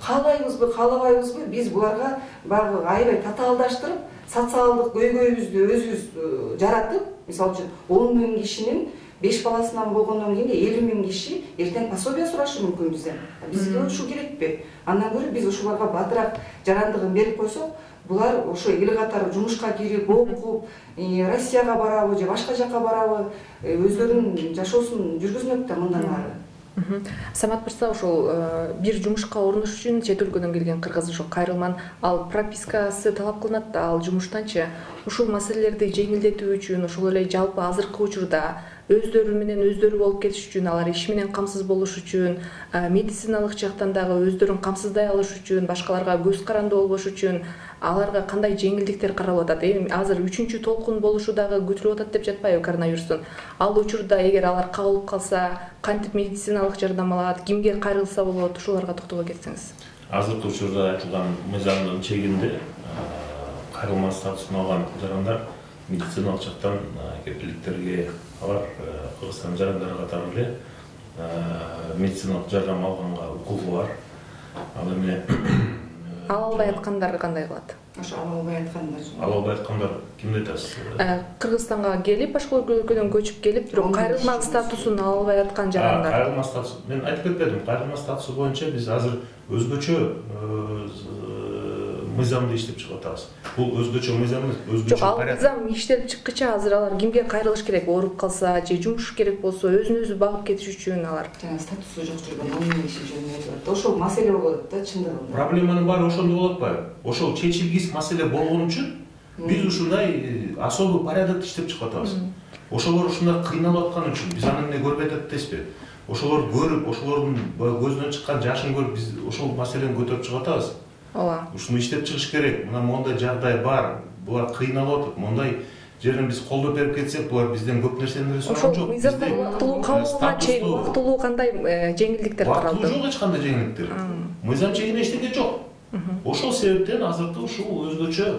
Каалайбызбы, каалабайбызбы, биз буларга баягы аябай татаалдаштырып, социалдык көйгөйүбүздү өзүбүз жаратып, мисалы үчүн он миң кишинин беш баласынан болгондон кийин элүү миң киши эртең пособие сурашы мүмкүн бизден. Бизге ушул керекпи? Андан көрө биз ушуларга батыраак жарандыгын берип койсок, булар ошо эл катары жумушка кирип, окуп, Россияга барабы же башка жакка барабы, өздөрүнүн жашоосун жүргүзмөк да мындан ары.
Самат мырза, ошол бир жумушка орношуш үчүн чет өлкөдөн келген кыргыз ошо кайрылман, ал пропискасы талап кылынат да, ал жумуштанчы ушул маселелерди жеңилдетүү үчүн, ошол эле жалпы азыркы учурда өздөрү менен өздөрү болуп кетиш үчүн, алар иш менен камсыз болуш үчүн, медициналык жактан дагы өздөрүн камсыздай алыш үчүн, башкаларга көз каранды болбош үчүн аларга кандай жеңилдиктер каралып атат? Эми азыр үчүнчү толкун болушу дагы күтүлүп атат деп жатпайбы коронавирустун? Ал учурда эгер алар кабылып калса, кантип медициналык жардам алат, кимге кайрылса болот? Ушуларга токтоло кетсеңиз.
Азыркы учурда айтылган мыйзамдын чегинде кайрылман статусун алган жарандар медициналык жактан кепилдиктерге, алар Кыргызстан жарандары катары эле медициналык жардам алганга укугу бар. Ал эми
ала албай аткандар кандай кылат?
Ошо ала албай аткандар.
Ала албай аткандар кимди айтасыз?
Кыргызстанга келип, башка өлкөдөн көчүп келип, бирок кайрылман статусун ала албай аткан жарандар.
Кайрылман статус. Мен айтып кетпедим. Кайрылман статусу боюнча биз азыр өзгөчө мыйзамды иштеп чыгып атабыз. Бул өзгөчө мыйзам эмес, өзгөчө порядок.
Жок, мыйзам иштелип чыккыча азыр алар кимге кайрылыш керек? Ооруп калса же жумуш керек болсо, өзүн өзү багып кетиш үчүн алар.
Жана статусу жок жүргөн он миң киши жөнүндө айтылат. Ошол маселе болот да чындыгында.
Проблеманын баары ошондо болуп атпайбы? Ошол чечилгис маселе болгон үчүн биз ушундай особый порядокто иштеп чыгып атабыз. Ошолор ушундай кыйналып аткан үчүн биз аны эмне көрбөй атат дейсизби? Ошолор көрүп, ошолордун көзүнөн чыккан жашын көрүп биз ошол маселени көтөрүп чыгып атабыз.
Ооба.
Ушуну иштеп чыгыш керек. Мына мондай жагдай бар. Булар кыйналып атат. Мондай жерин биз колдоп берип кетсек, булар бизден көп нерсени сураган жок.
Ошол мыйзамда убактылуу кабылганга чейин убактылуу кандай жеңилдиктер каралды?
Убактылуу жок эч кандай жеңилдиктер. Мыйзам чегинде эчтеке жок. Ошол себептен азыркы ушул өзгөчө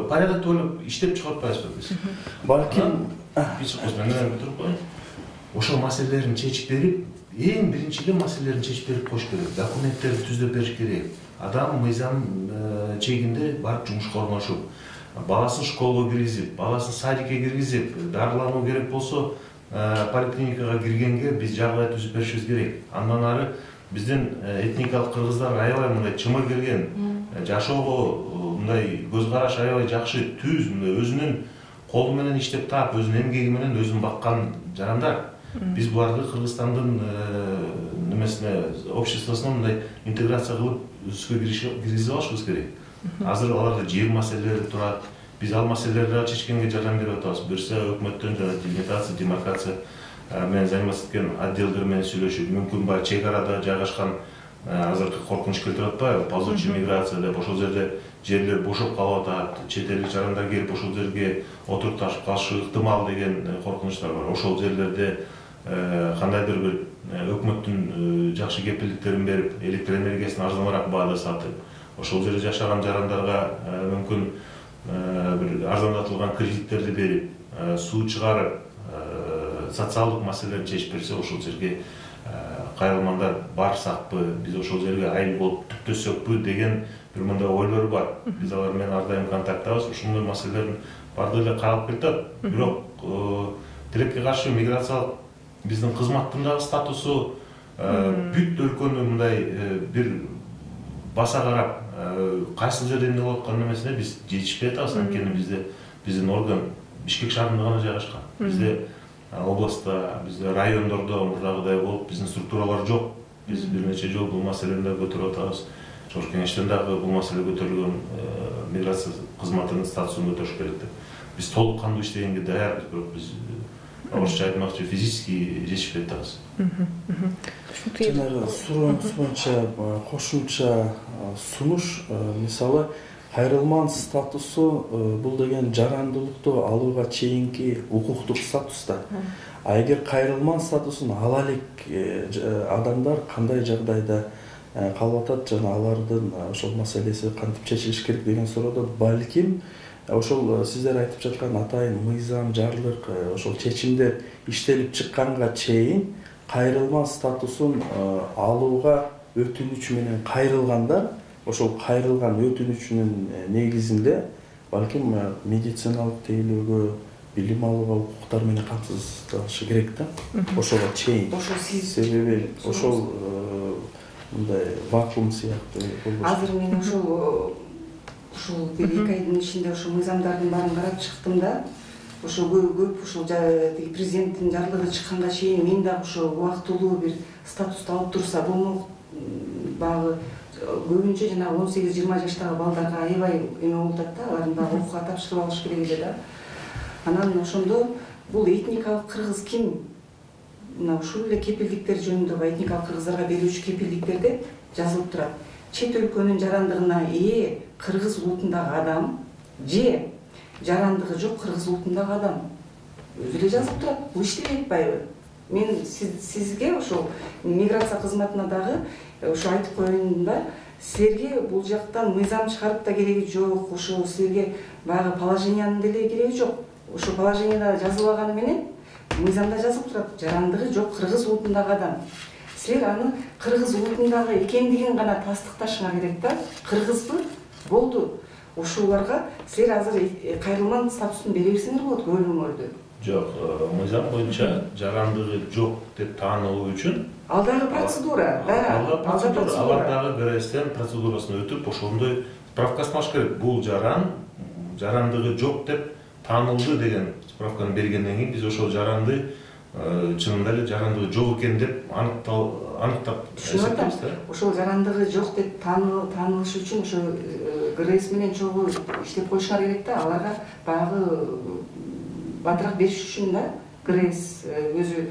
порядокто ойлоп иштеп чыгып атпайбызбы биз?
Балким
биз өзүнөн бүтүрүп коеюн. Ошол маселелерин чечип берип, эң биринчи эле маселелерин чечип берип коюш керек. Документтерди түзүп бериш керек. Адам мыйзам чегинде барып жумушка орношуп, баласын школго киргизип, баласын садикке киргизип, дарылануу керек болсо, поликлиникага киргенге биз жагдай түзүп беришибиз керек. Андан ары биздин этникалык кыргыздар аябай мындай чымыр келген, жашоого мындай көз караш аябай жакшы, түз, мындай өзүнүн колу менен иштеп таап, өзүнүн эмгеги менен өзүн баккан жарандар. Биз буларды Кыргызстандын немесине, обществосуна мындай интеграция кылып өсүккө киргизип алышыбыз керек. Азыр аларда жер маселелери турат. Биз ал маселелерди чечкенге жардам берип атабыз. Берсе өкмөттөн жана делимитация, демаркация менен заниматься эткен отделдер менен сүйлөшүп, мүмкүн баягы чек арада жайгашкан азыркы коркунуч келтирип атпайбы? Ползучий миграция деп ошол жерде жерлер бошоп калып атат, чет элдик жарандар келип ошол жерге отуруп ташып калышы ыктымал деген коркунучтар бар. Ошол жерлерде кандайдыр бир өкмөттүн жакшы кепилдиктерин берип, электр энергиясын арзаныраак баада сатып, ошол жерде жашаган жарандарга мүмкүн бир арзандатылган кредиттерди берип, суу чыгарып, социалдык маселелерди чечип берсе, ошол жерге кайрылмандар барсакпы, биз ошол жерге айыл болуп түптөсөкпү деген бир мындай ойлор бар. Биз алар менен ар дайым контакттабыз. Ушундай маселелердин баардыгы эле каралып келатат. Бирок тилекке каршы миграциялык биздин кызматтын дагы статусу бүт өлкөнү мындай бир баса карап, кайсы жерде эмне болуп аткан эмесине биз жетишпей атабыз. Анткени бизде биздин орган Бишкек шаарында гана жайгашкан. Бизде областта, бизде райондордо мурдагыдай болуп биздин структуралар жок. Биз бир нече жолу бул маселени да көтөрүп атабыз. Чогуш кеңештен дагы бул маселе көтөрүлгөн, миграция кызматынын статусун көтөрүш керек деп. Биз толук кандуу иштегенге даярбыз, бирок биз орусча айтмакчы физически жетишпей атабыз.
Жанагы сурооңуз боюнча кошумча сунуш, мисалы кайрылман статусу бул деген жарандуулукту алууга чейинки укуктук статус да. А эгер кайрылман статусун ала элек адамдар кандай жагдайда калып атат жана алардын ошол маселеси кантип чечилиш керек деген суроодо балким ошол сиздер айтып жаткан атайын мыйзам, жарлык, ошол чечимдер иштелип чыкканга чейин кайрылман статусун алууга өтүнүч менен кайрылгандар ошол кайрылган өтүнүчүнүн негизинде балким медициналык тейлөөгө, билим алууга укуктар менен камсыздалышы керек да. Ошого чейин.
Ошол сиз
себеби ошол мындай вакуум сыяктуу болбош.
Азыр мен ошол ушул бир эки айдын ичинде ошол мыйзамдардын баарын карап чыктым да. Ошо көп ушул президенттин жарлыгы чыкканга чейин мен дагы ошо убактылуу бир статусту алып турса болмок. Багы көбүнчө жана он сегиз жыйырма жаштагы балдарга аябай эме болуп атат да, алардын дагы окууга тапшырып алыш керек эле да. Анан ошондо бул этникалык кыргыз ким? Мына ушул эле кепилдиктер жөнүндө этникалык кыргыздарга берүүчү кепилдиктерде жазылып турат. Чет өлкөнүн жарандыгына ээ кыргыз улутундагы адам же жарандыгы жок кыргыз улутундагы адам өзү эле жазылып турат. Бул иштебей атпайбы? Мен сизге ошол миграция кызматына дагы ошо айтып коеюн да, силерге бул жактан мыйзам чыгарып да кереги жок, ошо силерге баягы положениянын деле кереги жок. Ошо положенияда жазылбаганы менен мыйзамда жазылып турат, жарандыгы жок кыргыз улутундагы адам. Силер аны кыргыз улутундагы экендигин гана тастыкташыңар керек да. Кыргызбы? Болду. Ошолорго силер азыр кайрылман статусун бере берсеңер болот көп өмүрдө.
Жок, мыйзам боюнча жарандыгы жок деп таанылуу үчүн
ал дагы процедура, да.
Алар дагы ГРСтен процедурасын өтүп, ошондой справкасын алыш керек. Бул жаран жарандыгы жок деп таанылды деген справканы бергенден кийин биз ошол жаранды чынында эле жарандыгы жок экен деп аныктап эсептейбиз да.
Ошол жарандыгы жок деп таанылыш үчүн ошо ГРС менен чогуу иштеп коюшуңар керек да. Аларга баягы батыраак бериш үчүн да. ГРС өзү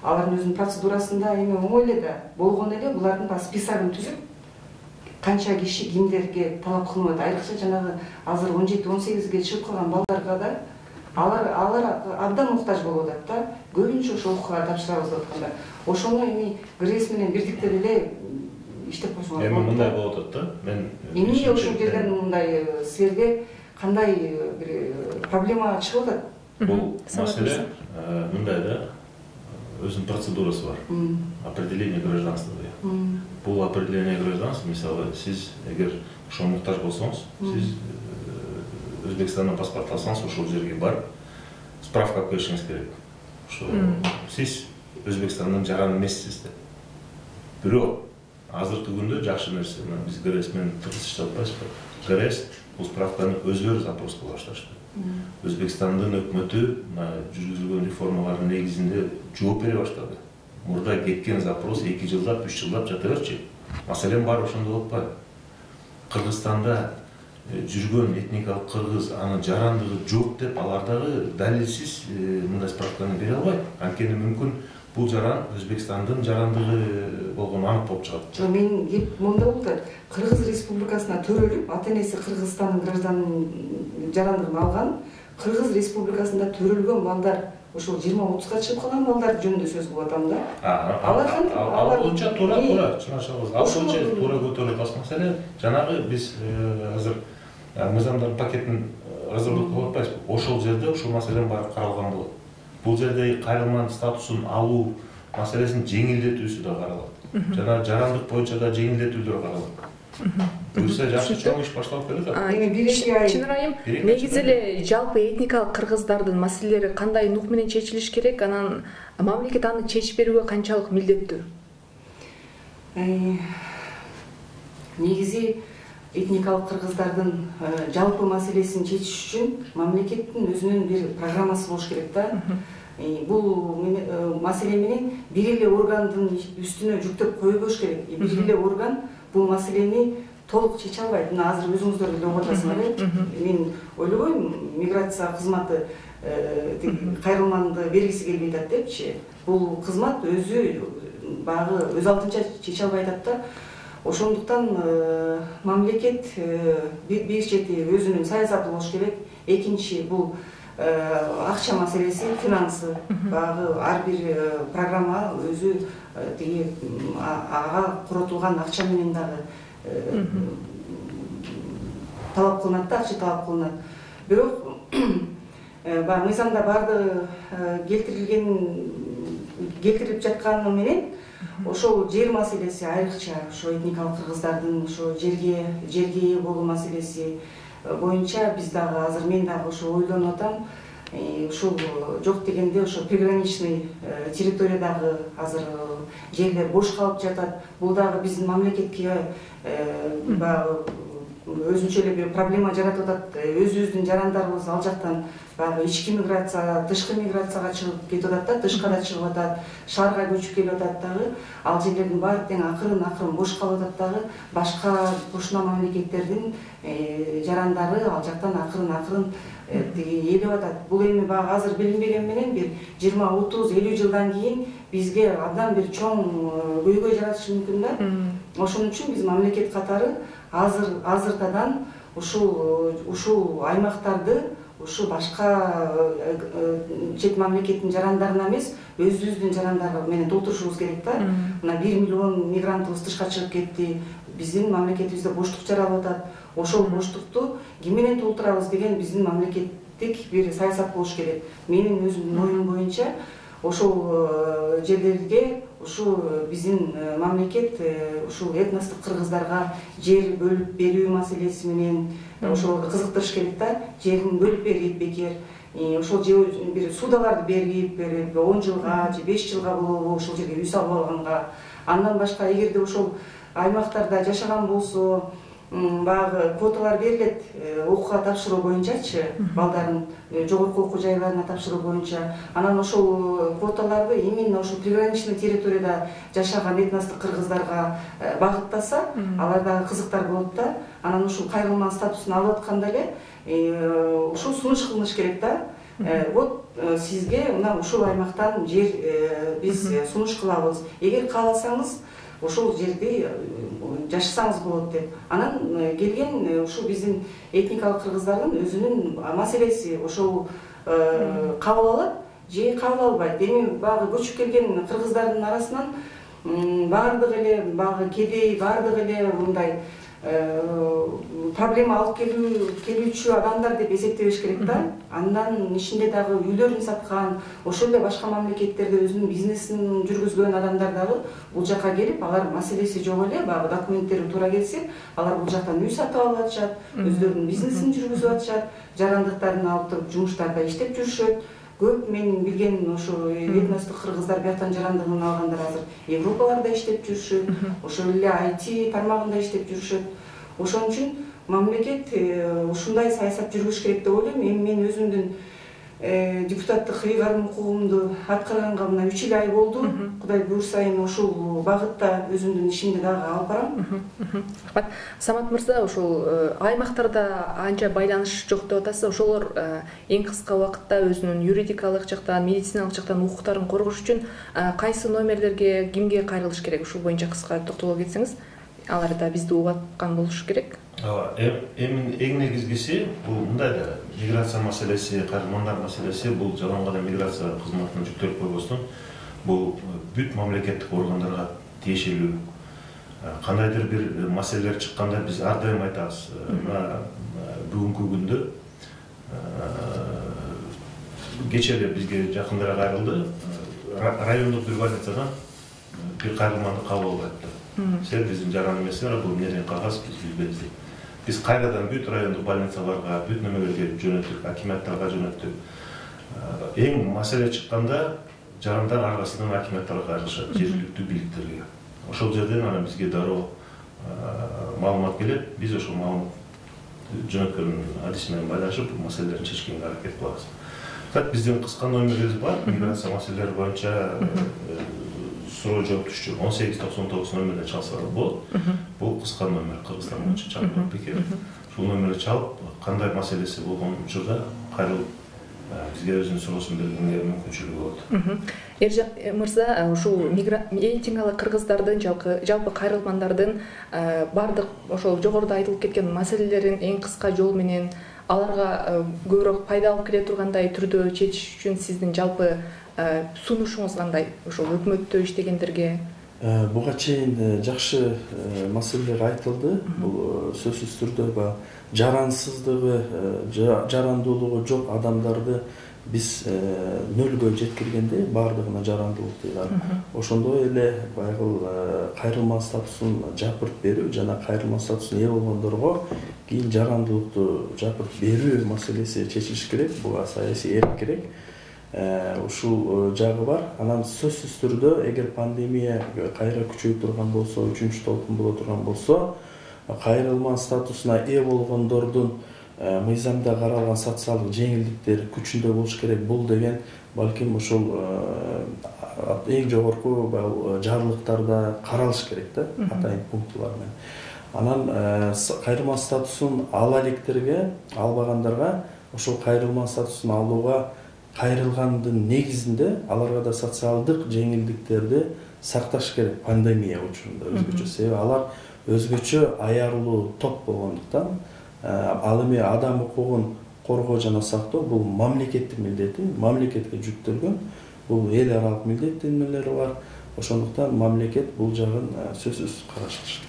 алардын өзүнүн процедурасында эме оңой эле да. Болгон эле булардын баягы списогун түзүп, канча киши кимдерге талап кылынат, айрыкча жанагы азыр он жети он сегизге чыгып калган балдарга да алар алар абдан муктаж болуп атат да. Көбүнчө ошол окууга тапшырабыз деп атканда. Ошону эми ГРС менен бирдиктеп эле иштеп койсоңор болот.
Эми мындай болуп атат да. Мен
эмне ошол жерден мындай силерге кандай бир проблема чыгып атат?
Бул маселе мындай да. Өзүнүн процедурасы бар. Определение гражданства деген. Бул определение гражданства, мисалы, сиз эгер ошого муктаж болсоңуз, сиз Өзбекстандан паспорт алсаңыз, ошол жерге барып, справка алып келишиңиз керек. Ошо сиз Өзбекстандын жараны эмессиз деп. Бирок азыркы күндө жакшы нерсе, биз ГРС менен тыгыз иштеп атпайбызбы? ГРС бул справканы өздөрү запрос кыла башташты. Өзбекстандын өкмөтү жүргүзүлгөн реформалардын негизинде жооп бере баштады. Мурда кеткен запрос эки жылдап, үч жылдап жата берчи. Маселен бар ошондо болуп атпайбы? Кыргызстанда жүргөн этникалык кыргыз аны жарандыгы жок деп алар дагы далилсиз мындай справканы бере албайт. Анткени мүмкүн бул жаран Өзбекстандын жарандыгы болгону анык болуп чыгат.
Жок, мен кеп монда болду. Кыргыз Республикасына төрөлүп, ата-энеси Кыргызстандын гражданын жарандыгын алган, Кыргыз Республикасында төрөлгөн балдар ошол жыйырма отузга чыгып калган балдар жөнүндө сөз кылып атам да.
Алар ал боюнча туура туура чынашабыз. Ал боюнча туура көтөрүлөт. Ал маселе жанагы биз азыр мыйзамдардын пакетин разработка кылып атпайбызбы? Ошол жерде ушул маселенин баары каралган болот. Бул жерде кайрылманын статусун алуу маселесин жеңилдетүүсү да каралат. Жана жарандык боюнча да жеңилдетүүлөр каралат. Буюрса жакшы чоң иш башталып келет.
Чынын айым, негизи эле жалпы этникалык кыргыздардын маселелери кандай нук менен чечилиш керек, анан мамлекет аны чечип берүүгө канчалык милдеттүү?
Негизи этникалык кыргыздардын жалпы маселесин чечиш үчүн мамлекеттин өзүнүн бир программасы болуш керек да. Бул маселе менен бир эле органдын үстүнө жүктөп койбош керек. Бир эле орган бул маселени толук чече албайт. Мына азыр өзүңүздөр деле угуп атасыңар э. Мен ойлобойм, миграция кызматы кайрылманды бергиси келбей атат депчи. Бул кызмат өзү багы өз алдынча чече албай атат да. Ошондуктан мамлекет бир чети өзүнүн саясаты болуш керек. Экинчи бул акча маселеси, финансы. Багы ар бир программа өзү тиги ага коротулган акча менен дагы талап кылынат да, акча талап кылынат. Бирок баягы мыйзамда баардыгы келтирилген келтирип жатканы менен ошол жер маселеси айрыкча ошо этникалык кыргыздардын ошо жерге жерге ээ болуу маселеси боюнча биз дагы азыр мен дагы ошо ойлонуп атам. Ушул жок дегенде ошо приграничный территориядагы азыр жерлер бош калып жатат. Бул дагы биздин мамлекетке баягы өзүнчө эле бир проблема жаратып атат. Өзүбүздүн жарандарыбыз ал жактан баягы ички миграция, тышкы миграцияга чыгып кетип атат да, тышка да чыгып атат, шаарга көчүп келип атат дагы. Ал жерлердин баары тең акырын-акырын бош калып атат дагы. Башка кошуна мамлекеттердин жарандары ал жактан акырын-акырын тиги ээлеп атат. Бул эми баягы азыр билинбеген менен бир жыйырма, отуз, элүү жылдан кийин бизге абдан бир чоң көйгөй жаратышы мүмкүн да. Ошон үчүн биз мамлекет катары азыр азыртадан ушул ушул аймактарды ушу башка чет мамлекеттин жарандарына эмес, өзүбүздүн жарандары менен толтурушубуз керек да. Мына бир миллион мигрантыбыз тышка чыгып кетти. Биздин мамлекетибизде боштук жаралып атат. Ошол боштукту ким менен толтурабыз деген биздин мамлекеттик бир саясат болуш керек. Менин өзүмдүн оюм боюнча ошол жерлерге ушу биздин мамлекет ушул этностук кыргыздарга жер бөлүп берүү маселеси менен ошолорду кызыктырыш керек да. Жерин бөлүп берип бекер ошол бир судаларды берип он жылга же беш жылга болобу ошол жерге үй салып алганга. Андан башка эгерде ошол аймактарда жашаган болсо баягы квоталар берилет окууга тапшыруу боюнчачы, балдарын жогорку окуу жайларына тапшыруу боюнча. Анан ошол квоталарды именно ошол приграничный территорияда жашаган этностук кыргыздарга багыттаса, алар дагы кызыктар болот да. Анан ушул кайрылман статусун алып атканда эле ушул сунуш кылыныш керек да. Вот сизге мына ушул аймактан жер биз сунуш кылабыз. Эгер кааласаңыз ошол жерде жашасаңыз болот деп. Анан келген ушул биздин этникалык кыргыздардын өзүнүн маселеси ошол кабыл алат же кабыл албайт. Эми баягы көчүп келген кыргыздардын арасынан баардык эле баягы кедей, баардык эле мындай проблема алып келүүчү адамдар деп эсептебеш керек да. Андан ичинде дагы үйлөрүн саткан, ошол эле башка мамлекеттерде өзүнүн бизнесин жүргүзгөн адамдар дагы бул жака келип, алар маселеси жок эле, баягы документтери туура келсе, алар бул жактан үй сатып алып атышат, өздөрүнүн бизнесин жүргүзүп атышат, жарандыктарын алып туруп жумуштарда иштеп жүрүшөт. Көп мен билген ошо этностук кыргыздар бияктан жарандыгын алгандар азыр Европаларда иштеп жүрүшөт, ошол эле ай ти тармагында иштеп жүрүшөт. Ошон үчүн мамлекет ушундай саясат жүргүзүш керек деп ойлойм. Эми мен өзүмдүн депутаттык ыйгарым укугумду аткарганга мына үч эл ай болду. Кудай буйрса эми ушул багытта өзүмдүн ишимди дагы алып барам.
Рахмат. Самат мырза, ушул аймактарда анча байланыш жок деп атасыз. Ошолор эң кыска убакытта өзүнүн юридикалык жактан, медициналык жактан укуктарын коргош үчүн кайсы номерлерге, кимге кайрылыш керек? Ушул боюнча кыска токтоло кетсеңиз, алар да бизди угуп аткан болуш керек.
Ооба, эми эң негизгиси бул мындай да миграция маселеси, кайрылмандар маселеси бул жалаң гана миграция кызматына жүктөлүп койбостон, бул бүт мамлекеттик органдарга тиешелүү. Кандайдыр бир маселелер чыкканда биз ар дайым айтабыз. Мына бүгүнкү күндө кече эле бизге жакындыраак кайрылды. Райондук бир больницадан бир кайрылманды кабыл алып атты. Сен биздин жаран эмессиңер, бул эмнеден кагаз биз билбейбиз дейт. Биз кайрадан бүт райондук больницаларга, бүт немелерге жөнөттүк, акиматтарга жөнөттүк. Эң маселе чыкканда жарандар аркасынан акиматтарга кайрылышат, жергиликтүү бийликтерге. Ошол жерден анан бизге дароо маалымат келет, биз ошол маалымат жөнөткөн адис менен байланышып маселелерди чечкенге аракет кылабыз. Так биздин кыска номерибиз бар, миграция маселелери боюнча суроо жооп түшчү он сегиз токсон тогуз номерден чалсалар болот. Бул кыска номер, Кыргызстан боюнча чалып бекер. Ушул номерди чалып, кандай маселеси болгон учурда кайрылып бизге өзүнүн суроосун бергенге мүмкүнчүлүгү болот.
Эржан мырза, ушул мигрантиялык кыргыздардын, жалпы кайрылмандардын бардык ошол жогоруда айтылып кеткен маселелерин эң кыска жол менен аларга көбүрөөк пайда алып келе тургандай түрдө чечиш үчүн сиздин жалпы сунушуңуз кандай? Ошол өкмөттө иштегендерге
буга чейин жакшы маселелер айтылды. Бул сөзсүз түрдө жарансыздыгы, жарандуулугу жок адамдарды биз нөлгө жеткиргенде баардыгына жарандуулук дейт. Ошондой эле байгыл кайрылма статусун жапырт берүү жана кайрылма статусуна ээ болгондорго кийин жарандуулукту жапырт берүү маселеси чечилиш керек. Буга саясий эрк керек. Ушул жагы бар. Анан сөзсүз түрдө эгер пандемия кайра күчөйүп турган болсо, үчүнчү толкун боло турган болсо, кайрылма статусуна ээ болгондордун мыйзамда каралган социалдык жеңилдиктер күчүндө болуш керек. Бул деген балким ошол эң жогорку жарлыктарда каралыш керек да, атайын пунктулар менен. Анан кайрылма статусун ала электерге, албагандарга ошол кайрылма статусун алууга кайрылгандын негизинде аларга да социалдык жеңилдиктерди сакташ керек пандемия учурунда өзгөчө. Себеби алар өзгөчө аярлуу топ болгондуктан, ал эми адам укугун коргоо жана сактоо бул мамлекеттик милдети, мамлекетке жүктөлгөн, бул эл аралык милдеттенмелери бар. Ошондуктан мамлекет бул жагын сөзсүз карашы.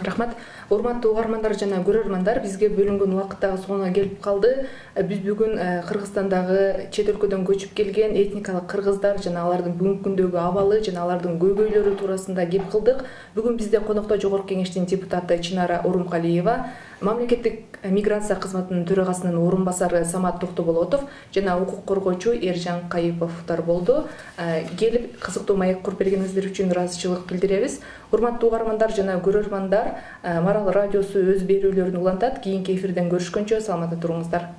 Рахмат. Урматтуу угармандар жана көрөрмандар, бизге бөлүнгөн убакыт дагы соңуна келип калды. Биз бүгүн Кыргызстандагы чет өлкөдөн көчүп келген этникалык кыргыздар жана алардын бүгүнкү күндөгү абалы жана алардын көйгөйлөрү туурасында кеп кылдык. Бүгүн бизде конокто Жогорку Кеңештин депутаты Чынара Орункалиева, мамлекеттик миграция кызматынын төрагасынын орун басары Самат Токтоболотов жана укук коргоочу Эржан Кайыповдор болду. Келип кызыктуу маек куруп бергениңиздер үчүн ыраазычылык билдиребиз. Урматтуу угармандар жана көрөрмандар, Марал радиосу өз берүүлөрүн улантат. Кийинки эфирден көрүшкөнчө саламатта туруңуздар.